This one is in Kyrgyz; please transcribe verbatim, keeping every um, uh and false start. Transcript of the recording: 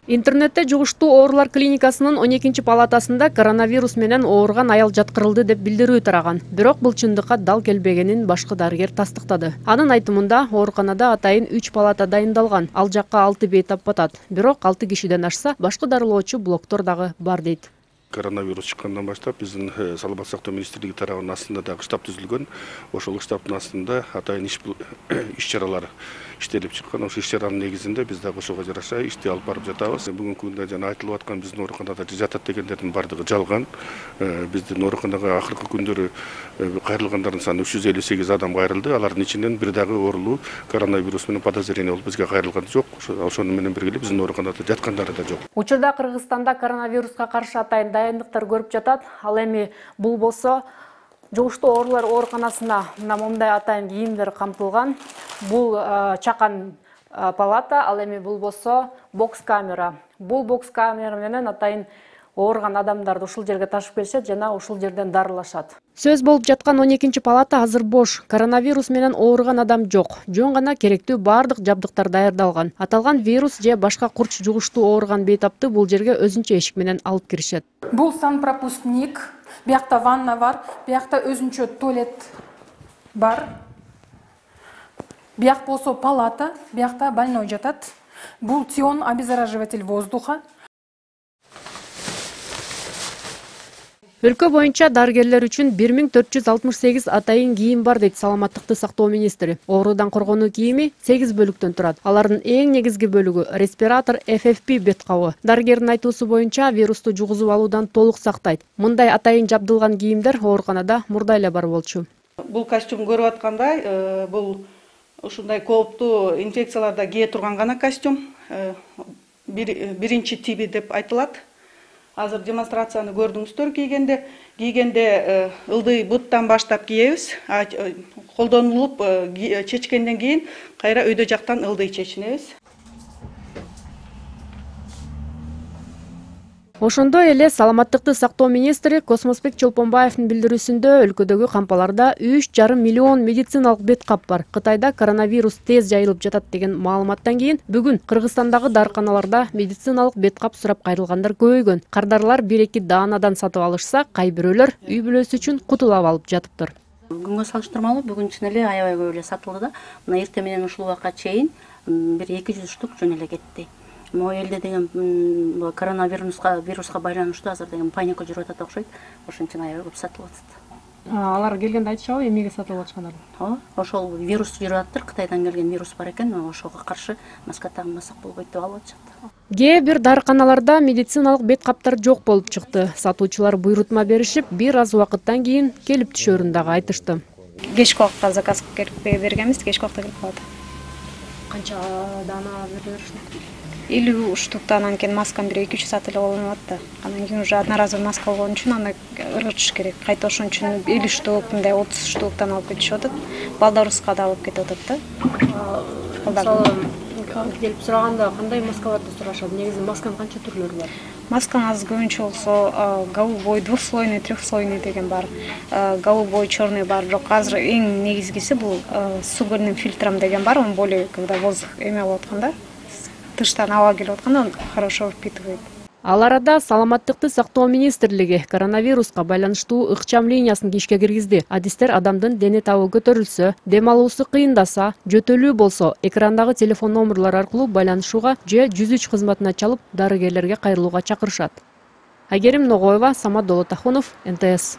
Интернетте жугуштуу оорулар клиникасынын он экинчи палатасында коронавирус менен ооруган аял жаткырылды деп билдирүү тараган. Бирок бул чындыкка дал келбегенин башкы дарыгер тастыктады. Анын айтымында, ооруканада атайын үч палата дайындалган. Ал жакка алты бейтап батат. Бирок алты кишиден ашса, башкы дарылоочу блоктор дагы бар дейт. Коронавирус чыккандан баштап биздин саламаттык сактоо министрлиги тарабынын астында дагы штаб түзүлгөн. Ошол штабтын астында атайын иш чаралар иштелип чыккан. Ошол иш чаранын негизинде биз дагы ошого жараша ишти алып барып жатабыз. Бүгүнкү күндө жана айтылып аткан биздин ооруканада жатат дегендердин бардыгы жалган. Биздин ооруканага акыркы күндөрү кайрылгандардын саны үч жүз элүү сегиз адам кайрылды. Алардын ичинен бир дагы оорулуу коронавирус менен подозрение болуп бизге кайрылган жок. Ошону менен бирге биздин ооруканада жаткандары да жок. Учурда Кыргызстанда коронавируска каршы атайын дайындыктар көрүп жатат. Ал эми бул болсо жугуштуу оорулар ооруканасына мына момундай атайын кийимдер камтылган. Бул чакан палата, ал эми бул болсо бокс камера. Бул бокс камера менен атайын ооруган адамдарды ушул жерге ташып келишет жана ушул жерден дарылашат. Сөз болуп жаткан он экинчи палата азыр бош. Коронавирус менен ооруган адам жок. Жөн гана керектүү бардык жабдыктар даярдалган. Аталган вирус же башка курч жугуштуу ооруган бейтапты бул жерге өзүнчө эшик менен алып киришет. Бул санпропускник, биякта ванна бар, биякта өзүнчө туалет бар. Бияк болсо палата, биякта больной жатат. Бул тион обеззараживатель воздуха. Өлкө боюнча дарыгерлер үчүн бир миң төрт жүз алтымыш сегиз атайын кийим бар дейт саламаттыкты сактоо министри. Оорудан коргонуу кийими сегиз бөлүктөн турат. Алардын эң негизги бөлүгү респиратор эф эф пи бет кабы. Дарыгердин айтуусу боюнча вирусту жугузуп алуудан толук сактайт. Мындай атайын жабдылган кийимдер ооруканада мурда эле бар болчу. Бул костюм көрүп аткандай, бул ушундай кооптуу инфекцияларда кие турган гана костюм. Биринчи тиби деп айтылат. Азыр демонстрацияны көрдүңүздөр кийгенде, кийгенде ылдый буттан баштап кийебиз. Колдонулуп чечкенден кийин кайра өйдө жактан ылдый чечинебиз. Ошондой эле саламаттыкты сактоо министри Космосбек Чолпонбаевдин билдирүүсүндө өлкөдөгү кампаларда үч жарым миллион медициналык бет кап бар. Кытайда коронавирус тез жайылып жатат деген маалыматтан кийин бүгүн Кыргызстандагы дарыканаларда медициналык бет кап сурап кайрылгандар көбөйгөн. Кардарлар бир-эки даанадан сатып алышса, кай бирөөлөр үй бүлөсү үчүн кутулап алып жатыптыр. Бүгүнгө салыштырмалуу бүгүн чын эле аябай көп эле сатылды да. Мына эртең менен ушул убакка чейин бир эки жүз штук жөн эле кетти. Могу элде деген коронавируска вируска байланыштуу азыр деген паника жүрүп атат окшойт. Ошон үчүн аябай көп сатылып атат. Алар келгенде айтышабы эмнеге сатылып атышкандарын? Ооба, ошол вирус жүрүп атыптыр, Кытайдан келген вирус бар экен, ошого каршы маска тагынбасак болбойт деп алып атышат. Кээ бир дарыканаларда медициналык бет каптар жок болуп чыкты. Сатуучулар буйрутма беришип, бир аз убакыттан кийин келип түшөрүн дагы айтышты. Кечки убакта заказ бергенбиз, кечки убакта келип калат. Канча даана беришти? элүү штуктан анан кийин масканы бир эки үч саат эле колдонуп атты. Анан кийин уже одноразовый маска болгон үчүн аны ыргытыш керек. Кайта ошон үчүн элүү штук, мындай отуз штуктан алып кетишип атат. Балдарыбызга да алып кетип атат да. Мисалы, келип сураганда кандай маскаларды сурашат? Негизи масканын канча түрлөрү бар? Масканын азыр көбүнчө болсо голубой, двухслойный, трехслойный деген бар. Голубой, черный бар. Бирок азыр эң негизгиси бул с угольным фильтром деген бар. Он более когда воздух эме болуп атканда, тыштан аба келип атканда он хорошо впитывает. Ал арада саламаттыкты сактоо министрлиги коронавируска байланыштуу ыкчам линиясын ишке киргизди. Адистер адамдын дене табы көтөрүлсө, дем алуусу кыйындаса, жөтөлүү болсо, экрандагы телефон номерлор аркылуу байланышууга же жүз үч кызматына чалып, дарыгерлерге кайрылууга чакырышат. Айгерим Ногоева, Самат Долотахунов, эн тэ эс.